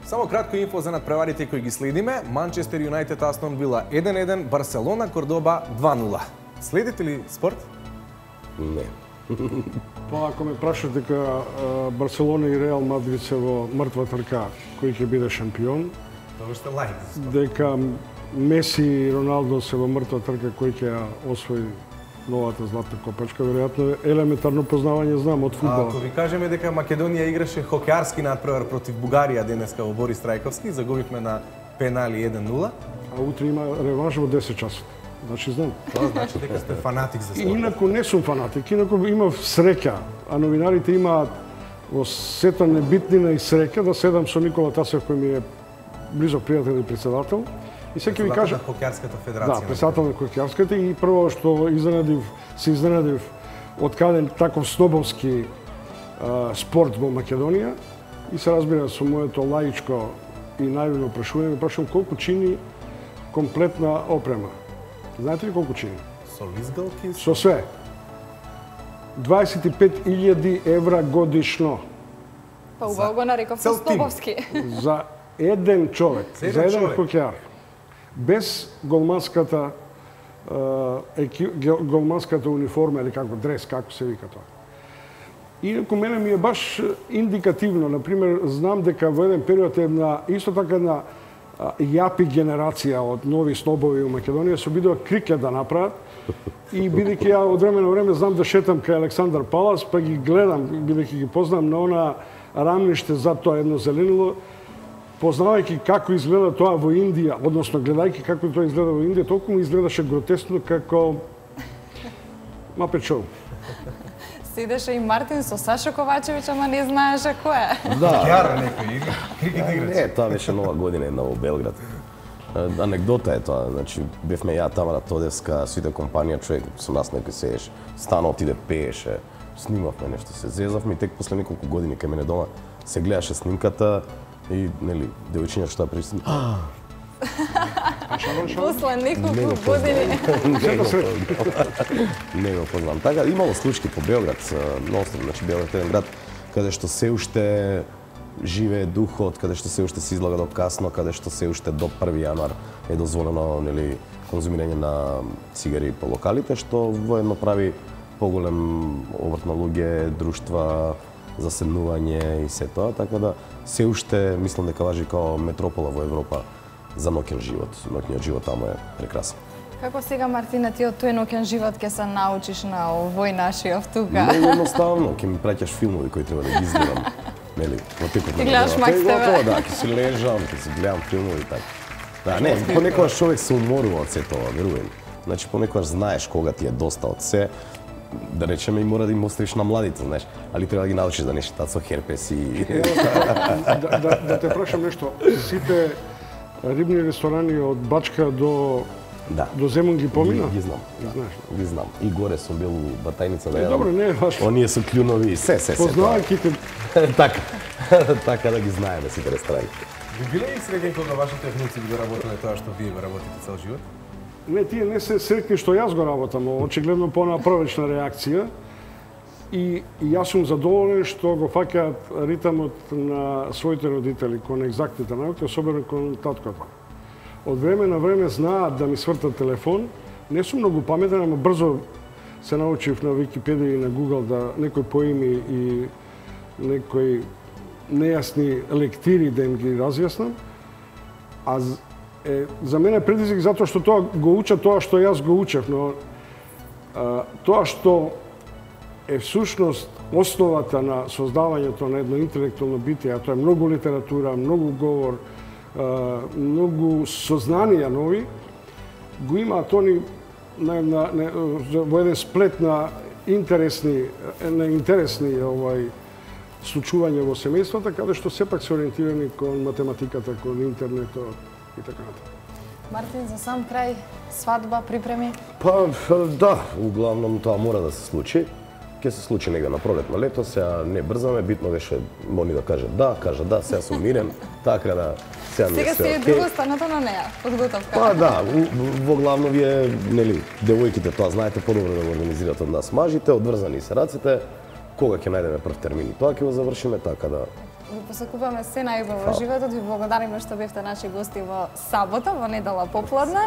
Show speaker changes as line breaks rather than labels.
Само кратко инфо за надпреварите кои ги следиме. Манчестер Юнайтед Астон Вила 1-1, Барселона Кордоба 2-0. Следите ли спорт?
Не.
Па ако ме прашат дека Барселона и Реал Мадрид се во мртва трка кој ќе биде шампион,
Тоа што лајк.
дека Меси и Роналдо се во мртва трка кој ќе освои новата златна копачка, веројатно елементарно познавање знам од фудбал.
Ако ви кажеме дека Македонија играше хокеарски надпревар против Бугарија денеска во Борис Трајковски, загубивме на пенали 1-0.
А утре има реванш во 10 часот. Значи знам.
Тоа значи дека сте фанатик за спорт.
Инаку не сум фанатик, инаку имав среќа, а новинарите имаат во сета небитнина и среќа да седам со Никола Тасев кој ми е близок пријател и председател. И сега ви кажа,
Хокеарската федерација.
да, председател на хокеарската и прво што се изненадив од каде таков снобовски спорт во Македонија и се разбира со моето лаичко и наивно прашување, прашувам колку чини комплетна опрема. Знаете ли колку чини?
Со лизгалки?
Со све. 25.000 евра годишно.
Па убаво го нареков
цел тим.
снобовски.
За еден човек,
За
за
еден
еден хокеар. Без голманската голманската униформа или како дрес, како се вика тоа. Инаку мене ми е баш индикативно, например, знам дека во еден период исто така една јапи генерација од нови снобови во Македонија се обидува крикет да направат и бидејќи ја од време на време знам да шетам кај Александар Палас, па ги гледам, бидејќи ги познам на она рамниште за тоа едно зеленило, познавајќи како изгледа тоа во Индија, односно гледајќи како тоа изгледа во Индија, толку му изгледаше гротесно како Muppet Show.
Седеше и Мартин со Сашо Ковачевиќ, ама не знаеше кој е.
Да.
Хокеар некој игра, крикет играч.
Не, тоа беше нова година една во Белград. Анекдота е тоа, значи бевме ја Тамара Тодевска, сите компанија, човек со нас некој седеше, стана отиде пееше, снимавме нешто, се зезавме и тек после неколку години кај мене дома се гледаше снимката и нели девојчиња што присутни.
После неколку години.
Не го познам. Така имало случаи по Белград, ностро, значи Белград е еден град каде што се уште живее духот, каде што се уште се излага до касно, каде што се уште до 1 јануар е дозволено нели конзумирање на цигари по локалите, што воедно прави поголем обрт на луѓе, друштва, заседнување и се тоа, така да се уште мислам дека важи као метропола во Европа за ноќен живот. Ноќниот живот таму е прекрасен.
Како сега, Мартина, ти од тој ноќен живот ќе се научиш на овој нашиот тука?
Многу едноставно, ќе ми праќаш филмови кои треба да ги изгледам. Нели, во текот на
гледаш Макс ТВ.
Готово, да, ќе се лежам, ќе се гледам филмови и така. Да, не, понекогаш човек се уморува од се тоа, верувам. Значи понекогаш знаеш кога ти е доста од се, да речеме и мора да им оставиш на младите, знаеш, али треба да ги научиш да не шетат со херпес и
Да те прашам нешто, сите рибни ресторани од Бачка до Земун ги помина?
Ги знам.
Знаеш.
Ги знам. И горе сум бил у Батајница да јадам.
Добро, не е важно.
Оние со клјунови и се.
Познавајќи те.
Така. Така да ги знаеме сите ресторани.
Ви биле ли среќни кога вашите внуци би го работеле тоа што вие го работите цел живот?
Не, тие не се среќни што јас го работам, очигледно понапрвечна реакција. И јас сум задоволен што го фаќаат ритамот на своите родители кон екзактните науки, особено кон таткото. Од време на време знаат да ми свртат телефон. Не сум многу паметен, ама брзо се научив на Википедија и на Google да некои поими и некои нејасни лектири да им ги разјаснам. А за мене е предизвик затоа што тоа го учат тоа што јас го учев, но тоа што е всушност основата на создавањето на едно интелектуално битие, а тоа е многу литература, многу говор, многу сознанија нови, го имаат они во еден сплет на интересни случувања во семејствата, каде што сепак се ориентирани кон математиката, кон интернетот и така натаму.
Мартин, за сам крај, свадба, припреми?
Па, да, углавном тоа мора да се случи. Ќе се случи негде на пролет на лето, сега не брзаме, битно беше Мони да каже да, сега сум мирен, така да сега ми е
Сега
све
си е друга страната на неа, подготовка.
Па да, во главно вие, нели, девојките тоа знаете подобро да го организирате од нас мажите, одврзани се раците, кога ќе најдеме прв термин и тоа ќе го завршиме, така да
Ви посакуваме се најубаво во животот, ви благодариме што бевте наши гости во сабота, во недела попладна.